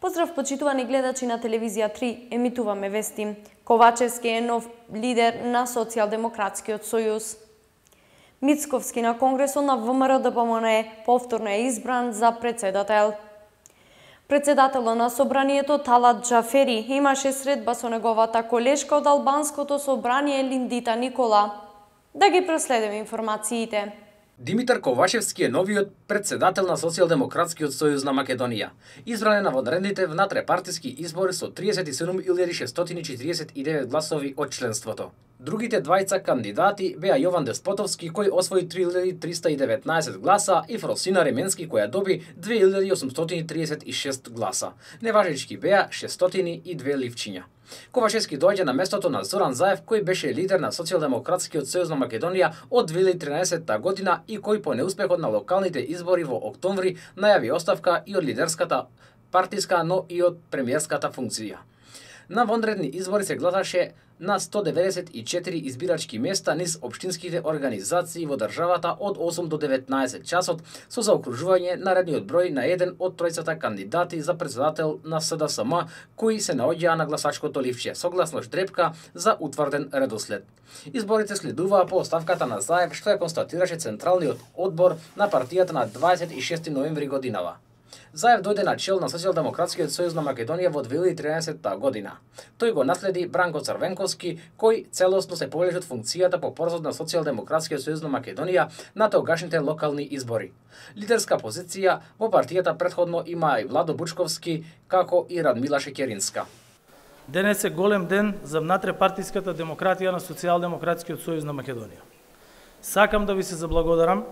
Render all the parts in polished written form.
Поздрав почитувани гледачи на телевизија 3, емитуваме вести. Ковачевски е нов лидер на Социјалдемократскиот сојуз. Мицковски на Конгресот на ВМРО-ДПМН повторно е избран за председател. Председателот на собранието Талат Џафери имаше средба со неговата колешка од албанското собрание Линдита Никола. Да ги проследиме информациите. Димитар Ковачевски е новиот председател на Социјалдемократскиот сојуз на Македонија. Избран е на вонредните внатрепартиски избори со 37.649 гласови од членството. Другите двајца кандидати беа Јован Деспотовски, кој освои 3.319 гласа, и Фросина Ременски, која доби 2.836 гласа. Неважечки беа 602 ливчиња. Ковачевски доаѓа на местото на Зоран Заев, кој беше лидер на Социјалдемократскиот сојуз на Македонија од 2013 година и кој по неуспехот на локалните избори во октомври најави оставка и од лидерската партиска, но и од премиерската функција. На вонредни избори се гласаше на 194 избирачки места низ општинските организации во државата од 8 до 19 часот, со заокружување на редниот број на еден од тројцата кандидати за председател на СДСМ, кои се наоѓаа на гласачкото ливче, согласно ждрепка за утврден редослед. Изборите следуваа по оставката на Заев, што ја констатираше Централниот одбор на партијата на 26 ноември годинава. Заев дојде на чел на Социјалдемократскиот сојуз на Македонија во 2013 година. Тој го наследи Бранко Црвенковски, кој целосно се повлече од функцијата по породот на Социјалдемократскиот сојуз на Македонија на тогашните локални избори. Лидерска позиција во партијата претходно има и Владо Бучковски, како и Радмила Шекеринска. Денес е голем ден за внатрепартиската демократија на Социјалдемократскиот сојуз на Македонија. Сакам да ви се заблагодарам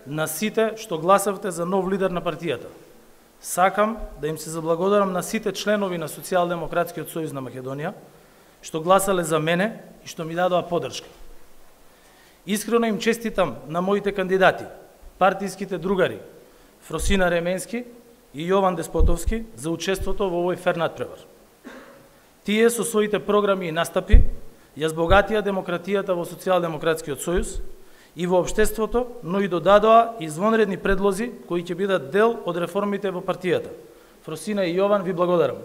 на сите што гласавте за нов лидер на партијата. Сакам да им се заблагодарам на сите членови на Социјалдемократскиот сојуз на Македонија што гласале за мене и што ми дадоа поддршка. Искрено им честитам на моите кандидати, партиските другари Фросина Ременски и Јован Деспотовски за учеството во овој фер надпревар. Тие со своите програми и настапи ја збогатија демократијата во Социјалдемократскиот сојуз и во општеството, но и додадоа извонредни предлози кои ќе бидат дел од реформите во партијата. Фросина и Јован, ви благодарам.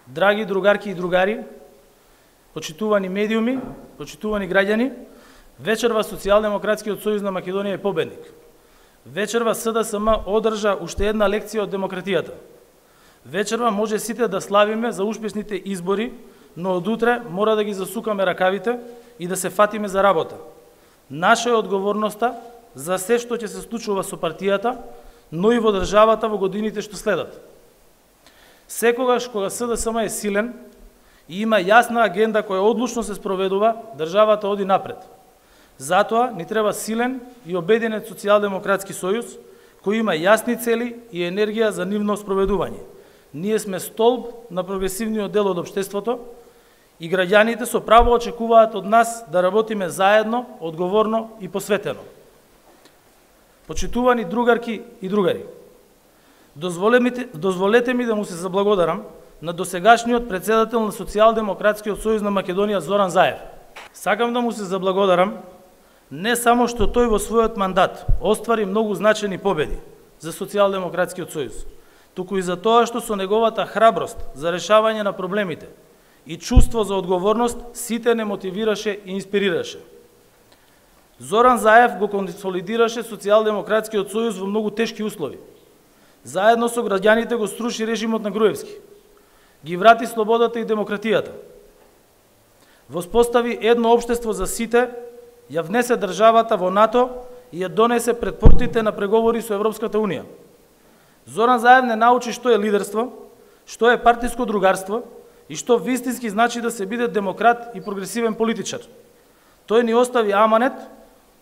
Драги другарки и другари, почитувани медиуми, почитувани граѓани, вечерва Социјалдемократскиот сојуз на Македонија е победник. Вечерва СДСМ одржа уште една лекција од демократијата. Вечерва може сите да славиме за успешните избори, но од утре мора да ги засукаме ракавите и да се фатиме за работа. Наша е одговорноста за се што ќе се случува со партијата, но и во државата во годините што следат. Секогаш кога СДСМ е силен и има јасна агенда која одлучно се спроведува, државата оди напред. Затоа ни треба силен и обединет Социјалдемократски сојуз кој има јасни цели и енергија за нивно спроведување. Ние сме столб на прогресивниот дел од општеството и граѓаните со право очекуваат од нас да работиме заедно, одговорно и посветено. Почитувани другарки и другари, дозволете ми да му се заблагодарам на досегашниот председател на Социјалдемократскиот сојуз на Македонија Зоран Заев. Сакам да му се заблагодарам не само што тој во својот мандат оствари многу значени победи за Социјалдемократскиот сојуз, туку и за тоа што со неговата храброст за решавање на проблемите и чувство за одговорност сите не мотивираше и инспирираше. Зоран Заев го консолидираше Социјалдемократскиот сојуз во многу тешки услови. Заедно со граѓаните го сруши режимот на Груевски, ги врати слободата и демократијата, воспостави едно општество за сите, ја внесе државата во НАТО и ја донесе пред портите на преговори со Европската Унија. Зоран Заев не научи што е лидерство, што е партиско другарство и што вистински значи да се биде демократ и прогресивен политичар. Тој ни остави аманет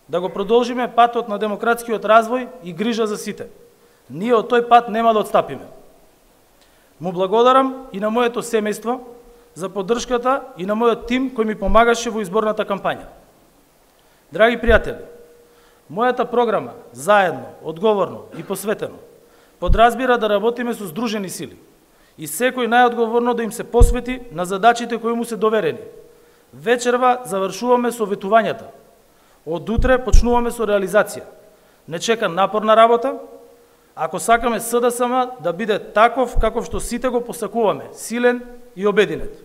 да го продолжиме патот на демократскиот развој и грижа за сите. Ние од тој пат нема да отстапиме. Му благодарам и на моето семејство за поддршката и на мојот тим кој ми помагаше во изборната кампања. Драги пријатели, мојата програма заедно, одговорно и посветено подразбира да работиме со здружени сили и секој најодговорно да им се посвети на задачите кои му се доверени. Вечерва завршуваме со ветувањата. Од утре почнуваме со реализација. Не чека напорна работа, ако сакаме СДСМ да биде таков каков што сите го посакуваме, силен и обединет.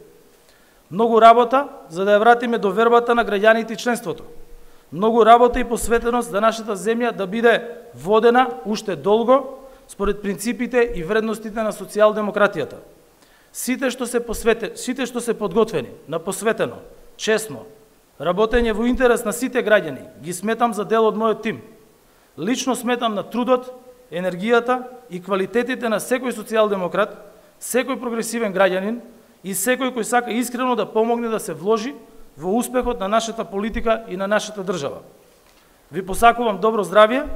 Многу работа за да ја вратиме довербата на граѓаните и членството. Многу работа и посветеност за нашата земја да биде водена уште долго според принципите и вредностите на социјалдемократијата. Сите што се подготвени на посветено, честно, работење во интерес на сите граѓани, ги сметам за дел од мојот тим. Лично сметам на трудот, енергијата и квалитетите на секој социјалдемократ, секој прогресивен граѓанин и секој кој сака искрено да помогне да се вложи во успехот на нашата политика и на нашата држава. Ви посакувам добро здравје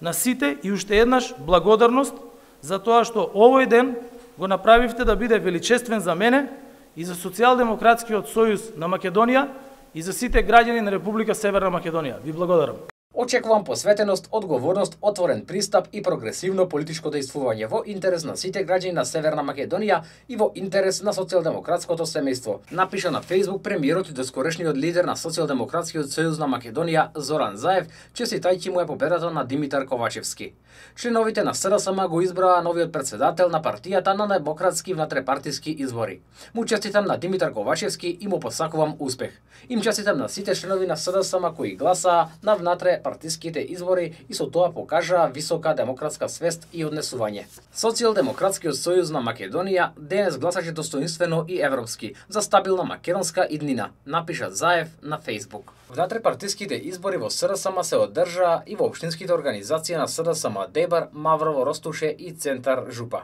на сите и уште еднаш благодарност за тоа што овој ден го направивте да биде величествен за мене и за Социјалдемократскиот сојуз на Македонија и за сите граѓани на Република Северна Македонија. Ви благодарам. Очекувам посветеност, одговорност, отворен пристап и прогресивно политичко дејствување во интерес на сите граѓани на Северна Македонија и во интерес на социјалдемократското семејство, напиша на Facebook премиерот и доскорешниот лидер на Социјалдемократскиот сојуз на Македонија Зоран Заев, честитајќи му победата на Димитар Ковачевски. Членовите на СДСМ го избраа новиот председател на партијата на демократски внатрепартиски избори. Му честитам на Димитар Ковачевски и му посакувам успех. Им честитам на сите членови на СДСМ кои гласаа на внатрепартиските избори и со тоа покажаа висока демократска свест и однесување. Социјалдемократскиот сојуз на Македонија денес гласаше достоинствено и европски за стабилна македонска иднина, напиша Заев на Facebook. Внатрепартиските избори во СДСМ се одржаа и во општинските организации на СДСМ Дебар, Маврово, Ростуше и Центар Жупа.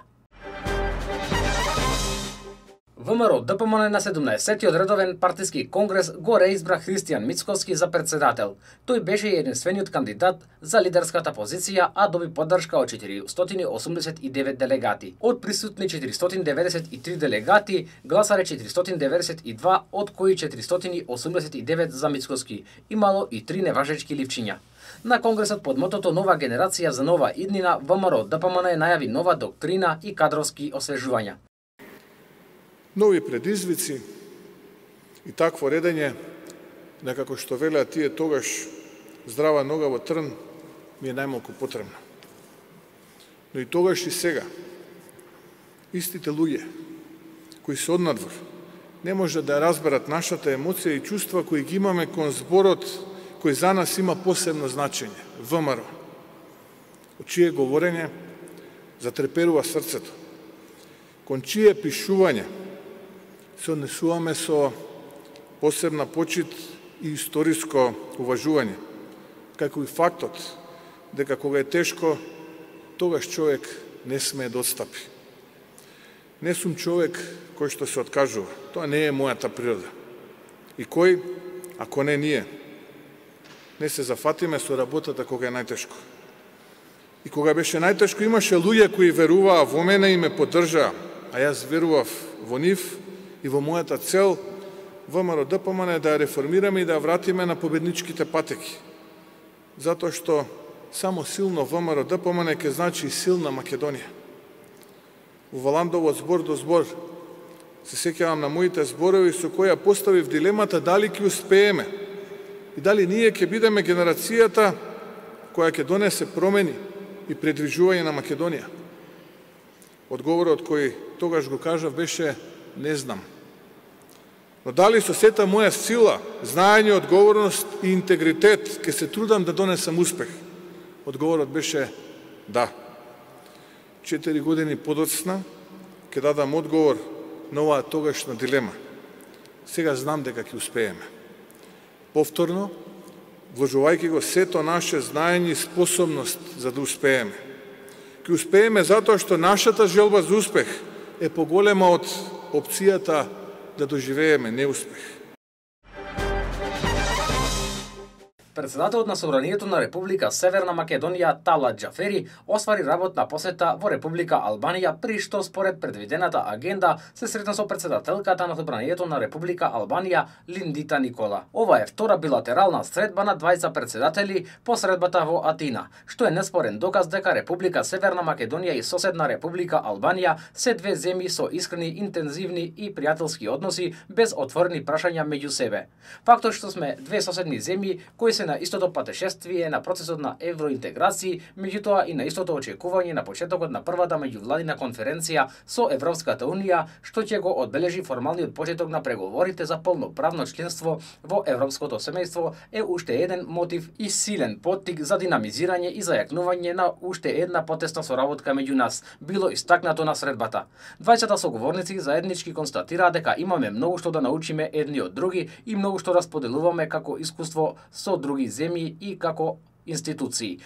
ВМРО ДПМН на 17-тиот редовен партиски конгрес го реизбра Христијан Мицковски за председател. Тој беше единствениот кандидат за лидерската позиција, а доби поддршка од 489 делегати. Од присутни 493 делегати, гласале 492, од кои 489 за Мицковски. Имало и 3 неважечки ливчиња. На конгресот под мотото Нова генерација за нова иднина, ВМРО ДПМН најави нова доктрина и кадровски освежувања. Нови предизвици и такво редење, некако што велеа тие тогаш, здрава нога во трн ми е најмалку потребно. Но и тогаш и сега, истите луѓе кои се однадвор, не може да разберат нашата емоција и чувства кои ги имаме кон зборот кој за нас има посебно значење, ВМРО. Од чие говорење затреперува срцето, кон чие пишување се однесуваме со посебна почит и историско уважување, како и фактот дека кога е тешко, тогаш човек не смее да отстапи. Не сум човек кој што се откажува. Тоа не е мојата природа. И кој, ако не ние, не се зафатиме со работата кога е најтешко. И кога беше најтешко, имаше луѓе кои веруваа во мене и ме поддржаа, а јас верував во нив и во мојата цел ВМРО ДПМН да ја реформираме и да ја вратиме на победничките патеки. Затоа што само силно ВМРО ДПМН ќе значи силна Македонија. Во Валандово збор до збор се сеќавам на моите зборови со која поставив дилемата дали ќе успееме и дали ние ќе бидеме генерацијата која ќе донесе промени и предвижување на Македонија. Одговорот кој тогаш го кажав беше не знам. Но дали со сета моја сила, знаење, одговорност и интегритет ќе се трудам да донесам успех? Одговорот беше да. 4 години подоцна ќе дадам одговор на оваа тогашна дилема. Сега знам дека ќе успееме. Повторно, вложувајќи го сето наше знаење и способност за да успееме. Ќе успееме затоа што нашата желба за успех е поголема од опцијата да доживееме неуспех. Председателот на Собранието на Република Северна Македонија Талат Џафери оствари работна посета во Република Албанија, при што според предвидената агенда се сретна со председателката на Собранието на Република Албанија Линдита Никола. Ова е втора билатерална средба на двајца председатели по средбата во Атина, што е неспорен доказ дека Република Северна Македонија и соседна Република Албанија се две земји со искрени, интензивни и пријателски односи без отворени прашања меѓу себе. Фактот што сме две соседни земји кои се се на истото патешествие на процесот на евроинтеграција, меѓутоа и на истото очекување на почетокот на првата меѓувладина конференција со Европската унија, што ќе го одбележи формалниот почеток на преговорите за полноправно членство во европското семејство, е уште еден мотив и силен поттик за динамизирање и зајакнување на уште една потесна соработка меѓу нас, било истакнато на средбата. Двајцата соговорници заеднички констатираа дека имаме многу што да научиме едни од други и многу што да споделуваме како искуство со други земји и како институции.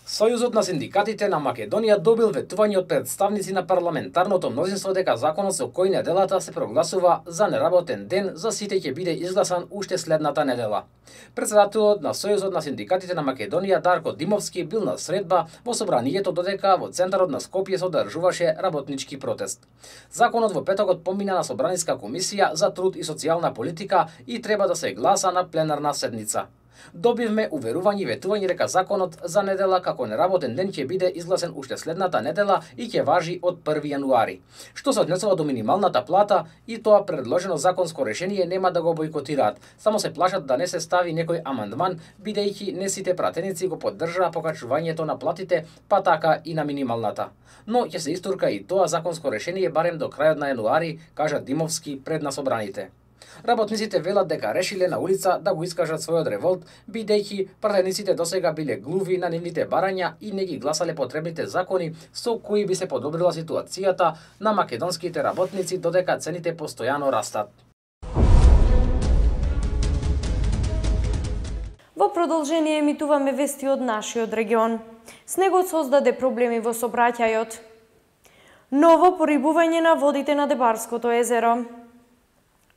Сојузот на синдикатите на Македонија добил ветување од представници на парламентарното мнозинство дека законот со кој неделата се прогласува за неработен ден за сите ќе биде изгласан уште следната недела. Претседателот на Сојузот на синдикатите на Македонија Дарко Димовски бил на средба во собранието додека во центарот на Скопје се одржуваше работнички протест. Законот во петокот помина на собраниска комисија за труд и социјална политика и треба да се гласа на пленарна седница. Добивме уверување и ветување дека законот за недела како неработен ден ќе биде изгласен уште следната недела и ќе важи од 1 јануари. Што се однесува до минималната плата, и тоа предложено законско решение нема да го бойкотираат, само се плашат да не се стави некој амандман, бидејќи не сите пратеници го поддржаа покачувањето на платите, па така и на минималната. Но ќе се истурка и тоа законско решение барем до крајот на јануари, кажа Димовски пред на собраните. Работниците велат дека решиле на улица да го искажат својот револт, бидејќи пратениците досега биле глуви на нивните барања и не ги гласале потребните закони со кои би се подобрила ситуацијата на македонските работници додека цените постојано растат. Во продолжение емитуваме вести од нашиот регион. Снегот создаде проблеми во сообраќајот. Ново порибување на водите на Дебарското езеро.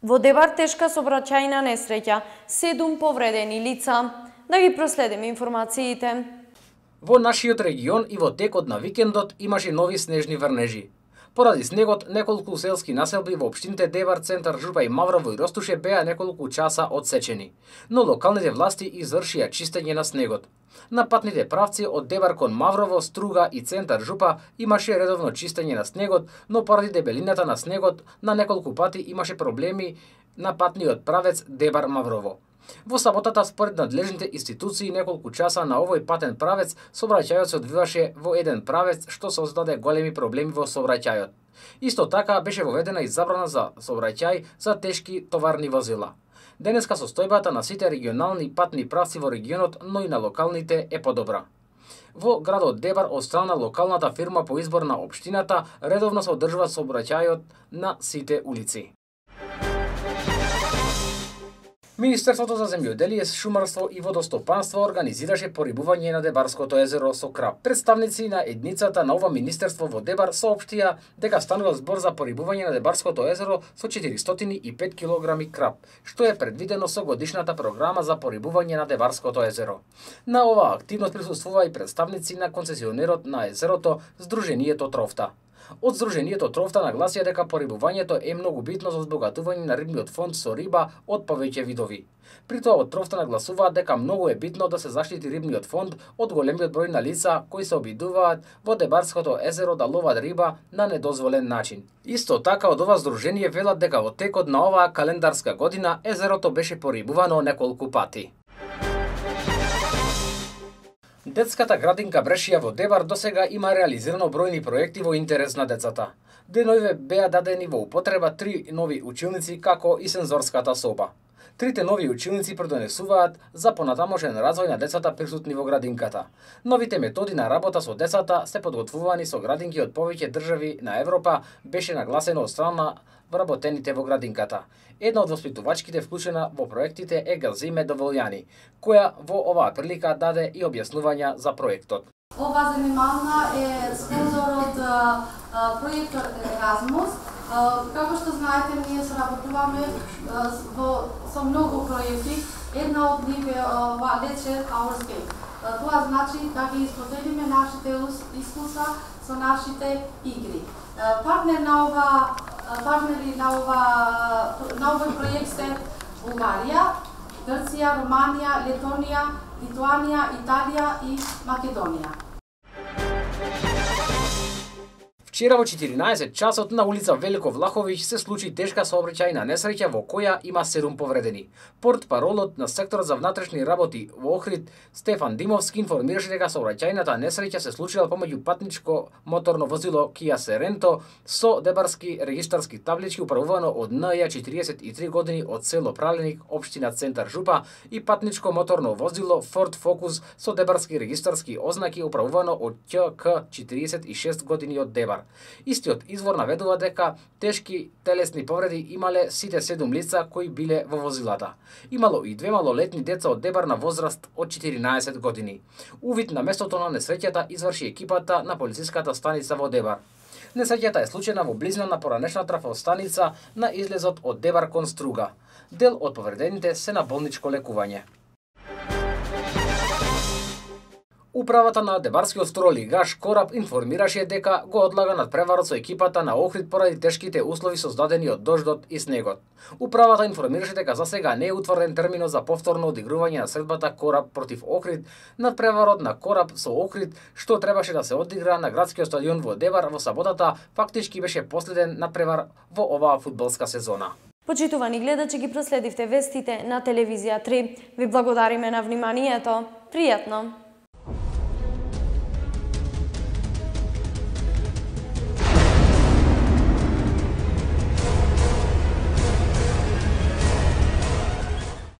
Во Дебар тешка сообраќајна несреќа, 7 повредени лица. Да ги проследиме информациите. Во нашиот регион и во текот на викендот имаше нови снежни врнежи. Поради снегот, неколку селски населби во општините Дебар, Центар Жупа и Маврово и Ростуше беа неколку часа одсечени, но локалните власти извршија чистење на снегот. На патните правци од Дебар кон Маврово, Струга и Центар Жупа имаше редовно чистење на снегот, но поради дебелината на снегот на неколку пати имаше проблеми на патниот правец Дебар-Маврово. Во саботата, според надлежните институции, неколку часа на овој патен правец, сообраќајот се одвиваше во еден правец, што создаде големи проблеми во сообраќајот. Исто така беше воведена и забрана за сообраќај за тешки товарни возила. Денеска состојбата на сите регионални патни правци во регионот, но и на локалните е подобра. Во градот Дебар, од страна локалната фирма по избор на општината, редовно се одржува сообраќајот на сите улици. Министерството за земјоделие, шумарство и водостопанство организираше порибување на Дебарското езеро со крап. Представници на едницата на ова министерство во Дебар соопштија дека станува збор за порибување на Дебарското езеро со 405 кг крап, што е предвидено со годишната програма за порибување на Дебарското езеро. На оваа активност присуствува и представници на концесионерот на езерото, Сдруженијето Трофта. Од Сдруженијето Трофта нагласија дека порибувањето е многу битно за збогатување на рибниот фонд со риба од повеќе видови. При тоа од Трофта нагласуваат дека многу е битно да се заштити рибниот фонд од големиот број на лица кои се обидуваат во Дебарското езеро да ловат риба на недозволен начин. Исто така од ова здружение велат дека во текот на оваа календарска година езерото беше порибувано неколку пати. Детската градинка Брешија во Дебар досега има реализирано бројни проекти во интерес на децата. Деноиве беа дадени во употреба 3 нови училници како и сензорската соба. Трите нови училници предонесуваат за понатамошен развој на децата присутни во градинката. Новите методи на работа со децата се подготвувани со градинки од повеќе држави на Европа, беше нагласено од страна вработените во градинката. Една од воспитувачките вклучена во проектите е Галзиме Доволјани, која во оваа прилика даде и објаснувања за проектот. Ова занимална е спонзор од проектор Еразмус. Како што знаете, ние соработуваме со многу проекти. Една од нив е Let's Share Our Skate. Тоа значи да ги споделиме нашите искуства со нашите игри. Партнери на овој проект се Бугарија, Грција, Романија, Летонија, Литуанија, Италија и Македонија. Вчера во 14 часот на улица Велико Влаховиќ се случи тешка сообраќајна несреќа во која има 7 повредени. Портпаролот на секторот за внатрешни работи во Охрид Стефан Димовски информираше дека сообраќајната несреќа се случила помеѓу патничко моторно возило Kia Sorento со дебарски регистарски таблички управувано од НЈ 43 години од село Праленик, општина Центар Жупа и патничко моторно возило Ford Focus со дебарски регистарски ознаки управувано од ќК 46 години од Дебар. Истиот извор наведува дека тешки телесни повреди имале сите 7 лица кои биле во возилата. Имало и 2 малолетни деца од Дебар на возраст од 14 години. Увид на местото на несреќата изврши екипата на полициската станица во Дебар. Несреќата е случена во близина на поранешна трафостаница на излезот од Дебар кон Струга. Дел од повредените се на болничко лекување. Управата на дебарскиот стролигаш Кораб информираше дека го одлага надпреварот со екипата на Охрид поради тешките услови создадени од дождот и снегот. Управата информираше дека за сега не е утврден терминот за повторно одигрување на средбата Кораб против Охрид. Надпреварот на Кораб со Охрид, што требаше да се одигра на градскиот стадион во Дебар во саботата, фактички беше последен надпревар во оваа фудбалска сезона. Почитувани гледачи, ги проследивте вестите на телевизија 3. Ви благодариме на вниманието. Пријатно!